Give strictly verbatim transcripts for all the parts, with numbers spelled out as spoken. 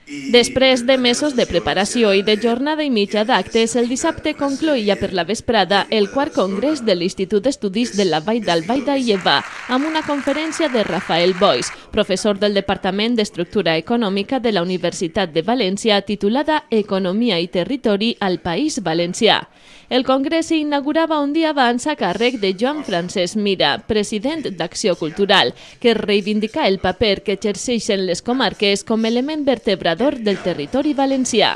Després de mesos de preparació i de jornada i mitja d'actes, el dissabte concloïa per la vesprada el quart congrés de l'Institut d'Estudis de la Vall d'Albaida i Eva, amb una conferència de Rafael Boix, professor del Departament d'Estructura Econòmica de la Universitat de València, titulada Economia i Territori al País Valencià. El congrés s'inaugurava un dia abans a càrrec de Joan Francesc Mira, president d'Acció Cultural, que reivindica el paper que exerceixen les comarques com a element vertebrador del territori valencià.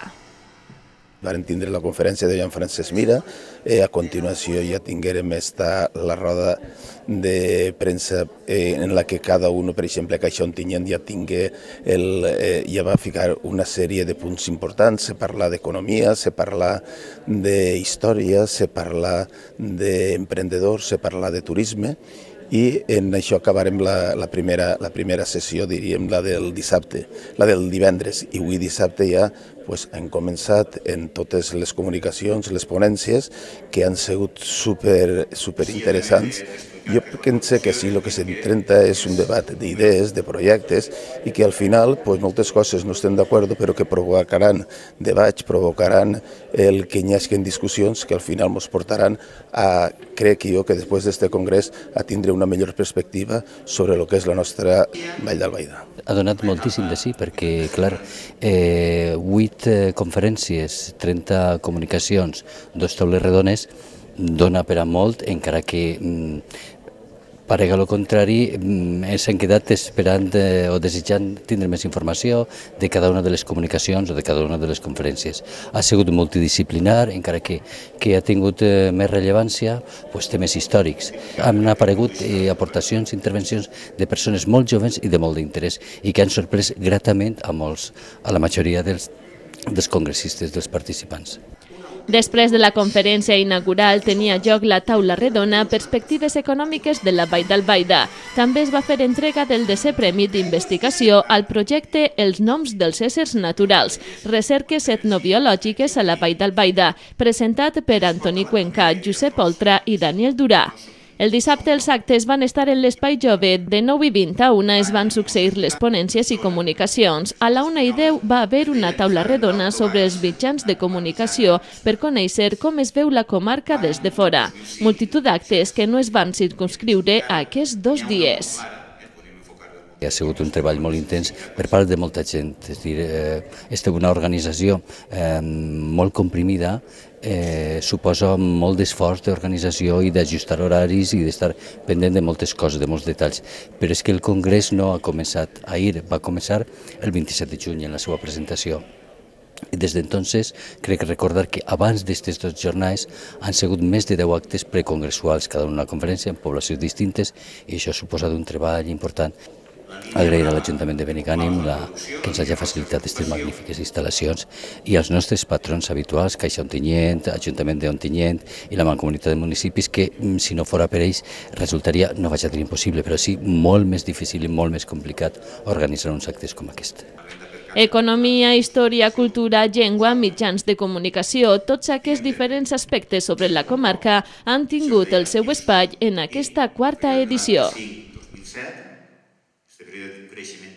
Varen tindre la conferència de Joan Francesc Mira, eh, a continuació ja tinguérem esta, la roda de premsa eh, en la que cada un, per exemple, a Caixa Ontinyent ja tingué, el, eh, ja va ficar una sèrie de punts importants, se parla d'economia, se parla d'història, se parla d'emprendedors, se parla de turisme, i en això acabarem la, la, primera, la primera sessió, diríem, la del dissabte, la del divendres, i avui dissabte ja pues, hem començat en totes les comunicacions, les ponències, que han sigut super, super interessants. Jo penso que sí, el que s'intenta és un debat d'idees, de projectes, i que al final pues, moltes coses no estem d'acord, però que provocaran debats, provocaran el que hi hagi discussions que al final ens portaran a, crec jo, que després d'aquest congrés a tindre una millor perspectiva sobre el que és la nostra Vall d'Albaida. Ha donat moltíssim de sí, perquè, clar, eh, vuit eh, conferències, trenta comunicacions, dos taules redones, dona per a molt, encara que mm, parega el contrari, ens hem quedat esperant eh, o desitjant tindre més informació de cada una de les comunicacions o de cada una de les conferències. Ha sigut multidisciplinar, encara que, que ha tingut eh, més rellevància, pues, temes històrics. Han aparegut eh, aportacions, intervencions de persones molt joves i de molt d'interès i que han sorprès gratament a molts, a la majoria dels, dels congressistes, dels participants. Després de la conferència inaugural tenia lloc la taula redona Perspectives econòmiques de la Vall d'Albaida. També es va fer entrega del desè premi d'investigació al projecte Els noms dels éssers naturals, recerques etnobiològiques a la Vall d'Albaida, presentat per Antoni Cuenca, Josep Oltra i Daniel Durà. El dissabte els actes van estar en l'Espai Jove, de nou i vint a una es van succeir les ponències i comunicacions. A la una i deu va haver una taula redona sobre els mitjans de comunicació per conèixer com es veu la comarca des de fora. Multitud d'actes que no es van circunscriure a aquests dos dies. Ha sigut un treball molt intens per part de molta gent, és a dir, eh, és una organització eh, molt comprimida, eh, suposa molt d'esforç d'organització i d'ajustar horaris i d'estar pendent de moltes coses, de molts detalls. Però és que el congrés no ha començat ahir, va començar el vint-i-set de juny en la seva presentació. I des d'entonces crec recordar que abans d'aquestes dues jornades han sigut més de deu actes precongressuals, cada una conferència en poblacions distintes, i això ha suposat un treball important. Agrair a l'Ajuntament de Benigànim la, que ens hagi facilitat aquestes magnífiques instal·lacions i als nostres patrons habituals, Caixa Ontinyent, Ajuntament d'Ontinyent i la Mancomunitat de Municipis, que si no fora per ells resultaria, no vaig a dir impossible, però sí molt més difícil i molt més complicat organitzar uns actes com aquest. Economia, història, cultura, llengua, mitjans de comunicació, tots aquests diferents aspectes sobre la comarca han tingut el seu espai en aquesta quarta edició. Este periodo de crecimiento